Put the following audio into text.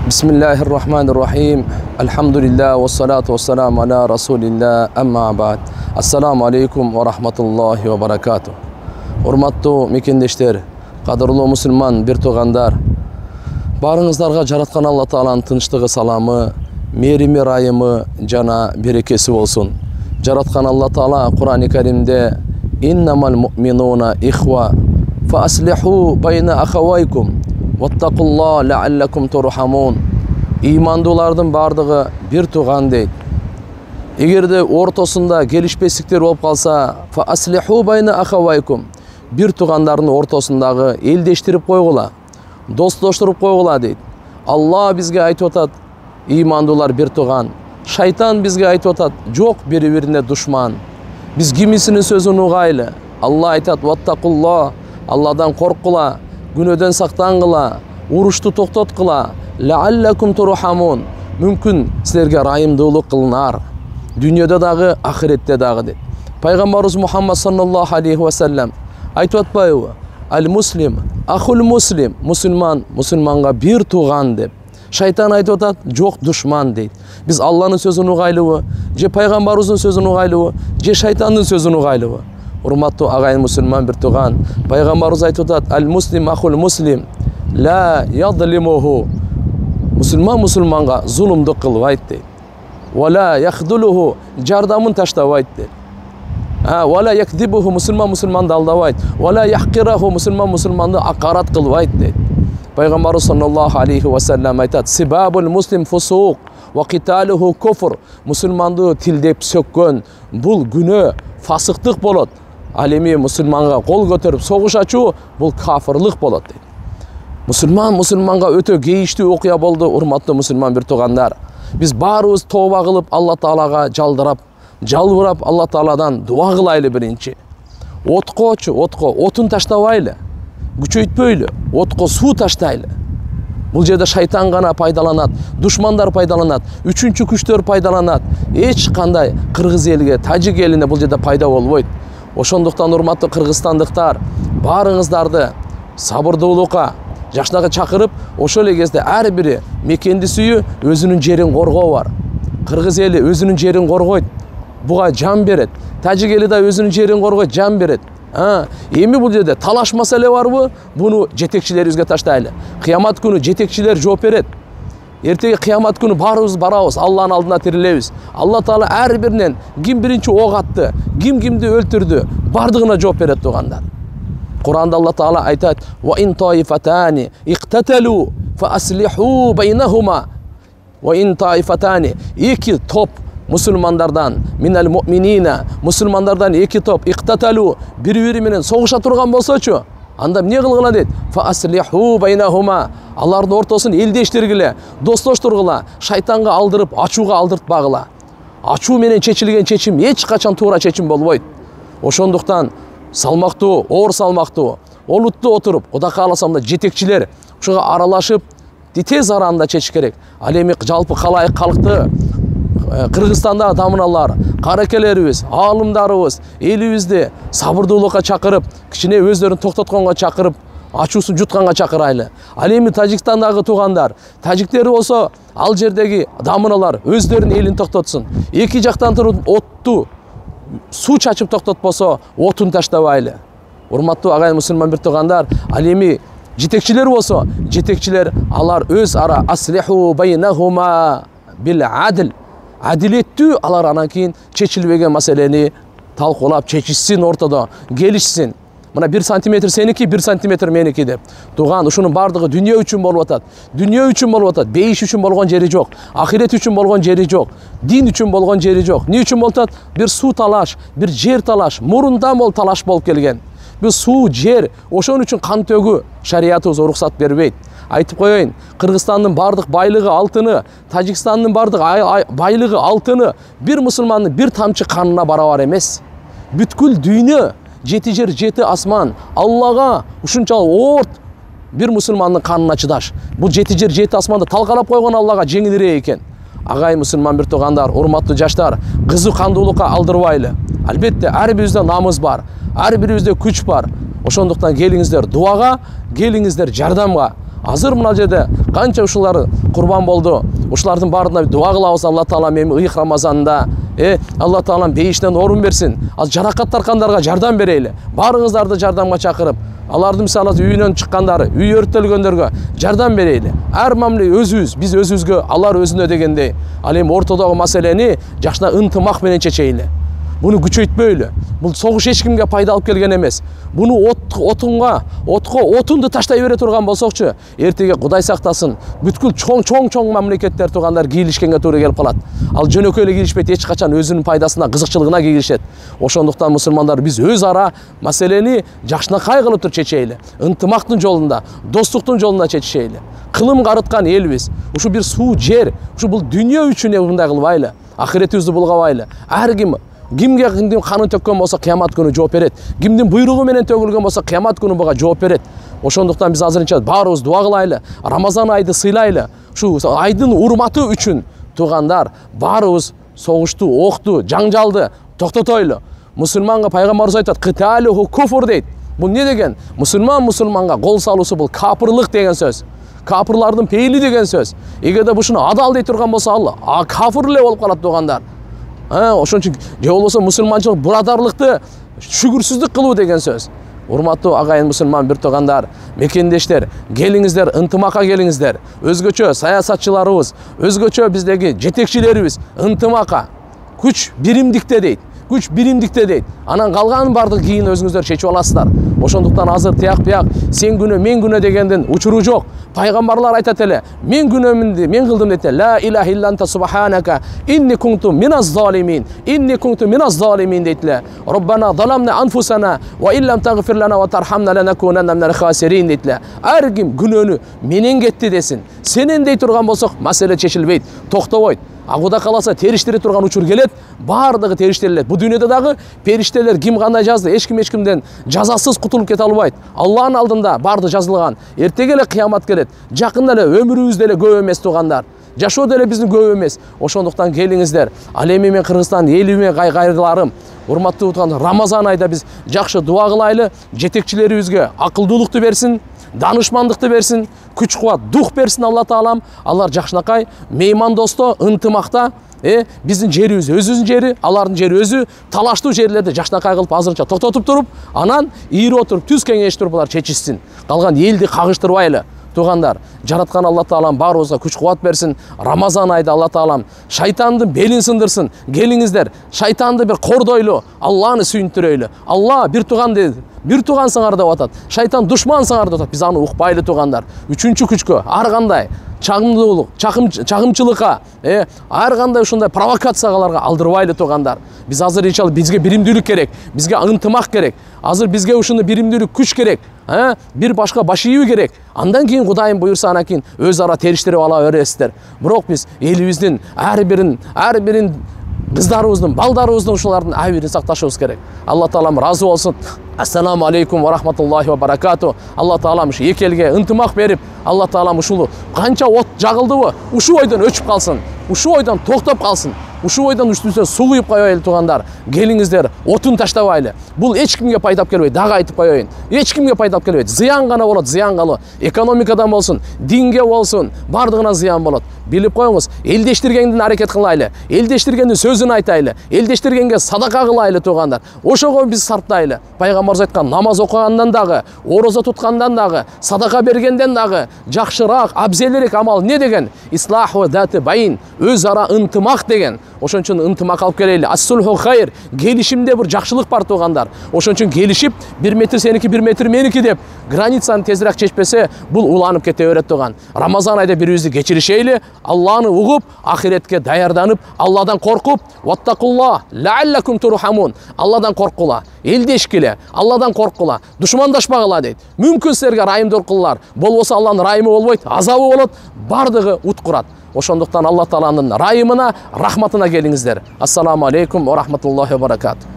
Bismillahirrahmanirrahim. Alhamdulillah wa salatu wa salam ala rasulillah amma ba'd. Assalamu alaikum wa rahmatullahi wa barakatuh. Урматтуу мекендештер, кадырлуу мусулман бир туугандар, баарыңыздарга жараткан Алла Тааланын тынчтыгы, саламы, мерими, райымы жана берекеси болсун. Жараткан Алла Таала Кур'ан-ы Каримде иннамал муъминуна ихва фа аслиху байна ахавайкум ваттакулла лааллакум турхамун. Ыймандуулардын бардыгы бир тууган дейт. Эгерде ортосунда келишпестиктер болуп калса, фа аслиху байна ахавайкум, бир туугандардын ортосундагы элдештирип койгула, достоштуруп койгула дейт. Алла бизге айтып атат, ыймандуулар бир тууган. Шайтан бизге айтып атат, жок, бири-бирине душман. Биз кимисинин сөзүн угайлы. Алла айтат, ваттакулла, Алладан корккула, күнөөдөн сактангыла, урушту токтоткула, лааллакум турхамун, мүмкүн силерге райымдуулук кылынар. Дүйнөдө дагы, ахиретте дагы дейт. Пайгамбарыбыз Мухаммад саллаллаху алейхи ва саллям айтып атпайбы? Ал-муслим ахул муслим, мусулман мусулманга бир тууган деп. Шайтан айтып атат, жок, душман дейт. Биз Алланын сөзүн угайлыбы, же пайгамбарыбыздын сөзүн угайлыбы, же шайтандын сөзүн угайлыбы? Урматтуу агайын мусулман бир тууган, пайгамбарыбыз айтып атат, ал-муслим ахул муслим ла ядлимуху, мусулман мусулманга зулумдук кылбайт дейт. Вала яхдулуху, жардамын таштабайт дейт. Вала якдибуху, мусулман мусулманды алдабайт. Вала яхкираху, мусулман мусулманды акарат кылбайт дейт. Пайгамбарыбыз саллаллаху алейхи ва саллям айтат, сибабул муслим фусук ва киталуху куфр, мусулманды тилдеп сөккөн бул күнөө, фасыктык болот. Ал эми мусулманга кол көтөрүп согуш ачуу бул кафырлык болот дейт. Мусулман мусулманга өтө кейиштүү окуя болду, урматтуу мусулман бир туугандар. Биз баарыбыз тооба кылып Алла Таалага жалбырап Алла Тааладан дуа кылайлы биринчи. Отун таштабайлы, күчөйтпөйлү, отко суу таштайлы. Бул жерде шайтан гана пайдаланат, душмандар пайдаланат, үчүнчү күчтөр пайдаланат. Эч кандай кыргыз элиге, тажик элине бул жерде пайда болбойт. Ошондуктан урматтуу кыргызстандыктар, баарыңыздарды сабырдуулукка, жакшынакы чакырып, ошол эле кезде ар бири мекенди сүйүү, өзүнүн жерин коргоо бар. Кыргыз эли өзүнүн жерин коргойт, буга жан берет. Тажик эли да өзүнүн жерин коргойт, жан берет. Эми бул жерде талаш маселе барбы? Буну жетекчилерибизге таштайлы. Кыямат күнү жетекчилер жооп берет. Эртеги кыямат күнү баарыбыз барабыз, Алланын алдына тирилебиз. Алла Таала ар биринен ким биринчи ок атты, ким кимди өлтүрдү, бардыгына жооп берет туугандар. Кур'анда Алла Таала айтат: "Ва ин таифатани иқтаталу фа аслиху байнахума". Ва ин таифатани, эки топ мусулмандардан, минал муъминина, мусулмандардан эки топ иқтаталу, бири-бири менен согуша турган болсочу, анда эмне кылгыла дейт? Фа аслиху байнахума, алардын ортосун элдештиргиле, достоштургула, шайтанга алдырып, ачууга алдыртпагыла. Ачуу менен чечилген чечим эч качан туура чечим болбойт. Ошондуктан салмактуу, оор салмактуу, олуттуу отуруп, Кудай кааласам да жетекчилер ушуга аралашып, тез аранда чечиш керек. Ал эми жалпы калайык калкты, Кыргызстандагы дамыналар, каракелерибиз, аалымдарыбыз элибизди сабырдуулукка чакырып, кичине өздөрүн токтотконго чакырып, ачуусун жутканга чакырайлы. Ал эми Тажикстандагы туугандар, тажиктер болсо, ал жердеги дамыналар өздөрүнүн элин токтотсун. Эки жактан туруп отту суу чачып токтотпосо, отун таштабайлы. Урматтуу агайын мусулман бир туугандар, ал эми жетекчилер болсо, жетекчилер алар өз ара аслиху байнахума бил адл, адилеттүү, алар анан кийин чечилбеген маселени талкуулап чечишсин, ортодо келишсин. Мына 1 сантиметр сеники, 1 сантиметр меники деп. Тууган, ушунун бардыгы дүйнө үчүн болуп атат. Дүйнө үчүн болуп атат. Бейиш үчүн болгон жери жок. Ахирет үчүн болгон жери жок. Дин үчүн болгон жери жок. Эмне үчүн болуп атат? Бир суу талаш, бир жер талаш. Мурундан бол талаш болуп келген. Бир суу, жер, ошон үчүн кан төгүү шариятыбыз уруксат бербейт. Айтып коеюн, Кыргызстандын бардык байлыгы алтыны, Тажикстандын бардык байлыгы алтыны бир мусулмандын бир тамчы канына барабар эмес. Бүткүл дүйнө, 7 жер 7 асман, Аллага ушунчалык орт бир мусулмандын канына чыдаш. Бул 7 жер 7 асманды талкалап койгон Аллага жеңилирээк экен. Агай мусулман бир туугандар, урматтуу жаштар, кызуу кандуулукка алдырбайлы. Албетте ар бирибизде намыз бар, ар бирибизде күч бар. Ошондуктан келиңиздер дуага, келиңиздер жардамга. Азыр мына жерде канча ушулар курбан болду. Ушулардын баарына дуа кылабыз. Алла таала эми ыйык Рамазанда Алла таалам бейиштен орун берсин. Ал жаракат тарткандарга жардам берели. Баарыңыздарды жардамга чакырып, алардын мисалы үйүнөн чыккандары, үй өрттөлгөндөргө жардам берели. Ар мамиле өзүбүз, биз өзүбүзгө, алар өзүнө дегендей. Ал эми ортодогу маселени жакшына ынтымак менен чечейли. Буну күчөйтпөйлү. Бул согуш эч кимге пайда алып келген эмес. Буну отко отунду таштай бере турган болсокчу, эртеге Кудай сактасын, бүткүл чоң мамлекеттер тугандар кийлишкенге туура келип калат. Ал жөнөкөй эле кийлишпейт, эч качан өзүнүн пайдасына, кызыкчылыгына кийлишет. Ошондуктан мусулмандар биз өз ара маселени жакшынакай кылып туруп чечейли. Ынтымактын жолунда, достуктун жолунда чечишейли. Кылым карыткан элбиз. Ушу бир суу, жер, ушу бул дүйнө үчүн мындай кылбайлы. Ахиретибизди булгабайлы. Ар кимге канын төккөн болсо кыямат күнү жооп берет. Кимдин буйругу менен төгүлгөн болсо кыямат күнү буга жооп берет. Ошондуктан биз азырынча баарыбыз дуа кылайлы. Рамазан айды сыйлайлы. Ушу айдын урматы үчүн туугандар баарыбыз согушту, окту, жаңжалды токтотойлу. Мусулманга пайгамбарыбыз айтат, кыталуху куфур дейт. Бул эмне деген? Мусулманга кол салуусу бул капырлык деген сөз. Капырлардын пейили деген сөз. Эгерде бушуну адал дей турган болсо ал кафыр эле болуп калат туугандар. Ошон үчүн же болбосо мусулманчылык бурадарлыкты шүгүрсүздүк кылуу деген сөз. Урматтуу агайын мусулман бир туугандар, мекендештер, келиңиздер, ынтымакка келиңиздер. Өзгөчө саясатчыларыбыз, өзгөчө биздеги жетекчилерибиз ынтымакка, күч биримдикте дейт. Күч биримдикте дейт. Анан калган бардык кийин өзүңүздөр чечип аласыздар. Ошондуктан азыр тияк сен күнөө, мен күнөө дегенден учуру жок. Пайгамбарлар айтат эле, мен күнөөмүн, мен кылдым дейт. Ла илаха илля анта субханака инни кунту миназ залимин. Инни кунту миназ залимин дейт эле. Роббана заламна анфусана ва иллам тагфир лана ва тархамна ланакунанна минал хасирин дейт эле. Ар ким күнөөнү менен кетти десин. Сенен дей турган болсок, маселе чечилбейт, токтобойт. Кудай кааласа териштире турган учур келет, баардыгы териштелет. Бу дүйнөдө дагы периштелер ким кандай жазды, эч кимден жазасыз кутулуп кете албайт. Алланын алдында баарды жазылган. Эртеге эле кыямат келет. Жакында эле өмүрүбүз деле көп эмес туугандар. Жашоо деле биздин көп эмес. Ошондуктан келиңиздер. Ал эми мен Кыргызстан элиме кайрыларым. Урматтуу туугандар, Рамазан айда биз жакшы дуа кылайлы, жетекчилерибизге акылдуулукту берсин, данышмандыкты берсин, күч кубат, дух берсин Алла таалам. Алар жакшынакай, меймандосто, ынтымакта, биздин жерибиз өзүбүздүн жери, алардын жери өзү, талаштуу жерлерди жакшынакай кылып азырынча токтотуп туруп, анан ийири отуруп, түз кеңешип туруп булар чечишсин. Калган элди кагыштырбайлы. Туугандар, жараткан Алла таалам баарыбызга күч кубат берсин. Рамазан айда Алла таалам шайтандын белин сындырсын. Келиңиздер, шайтанды бир кордойлу, Алланы сүйүндүрөйлү. Алла бир туган дейт. Бир туган саңар деп атат. Шайтан душман саңар деп атат. Биз аны укпайлы туугандар. Үчүнчү күчкө ар кандай чагымдуулук, чагымчылыкка, ар кандай ушундай провокацияларга алдырбайлы туугандар. Биз азыр иншалла бизге биримдүүлүк керек, бизге ынтымак керек. Азыр бизге ушуну биримдүүлүк, күч керек. Бир башка баш ийүү керек. Андан кийин Кудайым буйрса анан кийин өз ара териштирип ала бересиздер. Бирок биз элибиздин ар бирин кыздарыбыздын, балдарыбыздын ушулардын ар бирин сакташыбыз керек. Алла таалам разы болсун. Ассаламу алейкум ва рахматуллахи ва баракату. Алла таалам ушу эки элге ынтымак берип, Алла таалам ушул канча от жагылдыбы, ушу ойдон өчүп калсын. Ушу ойдон токтоп калсын. Ушу ойдон үстүнө суу куюп коелу туугандар. Келиңиздер, отун таштабайлы. Бул эч кимге пайда алып келбейт. Дагы айтып коеюн. Эч кимге пайда алып келбейт. Зыян гана болот, зыян гана. Экономикадан болсун, динге болсун, бардыгына зыян болот. Билип коюңуз, элдештиргендин аракет кылайлы. Элдештиргендин сөзүн айтайлы. Элдештиргенге садака кылайлы туугандар. Ошого биз сарптайлы. Пайгамбарыбыз айткан, намаз окугандан дагы, орозо туткандан дагы, садака бергенден дагы жакшыраак, абзелирээк амал эмне деген? Ислаху даты байин, өз ара ынтымак деген. Ошон үчүн ынтымак алып келели. Ас-сулху хайр. Келишимде бир жакшылык бар туугандар. Ошон үчүн келишип, 1 метр сеники, 1 метр меники деп границаны тезирээк чечпесе, бул уланып кете берет тууган. Рамазан айда бирибизди кечиришейли, Алланы угуп, ахиретке даярданып, Алладан коркуп, ваттакулла лааллакум турхамун. Алладан коркула, элдешкиле, Алладан коркула, душмандашпагыла дейт. Мүмкүн силерге райымдуу кылалар. Болбосо Алланын райымы болбойт, азабы болот, бардыгы уткурат. Ошондуктан Алла тааланын райымына, рахматына келиңиздер. Ассаламу алейкум ва рахматуллахи ва баракату.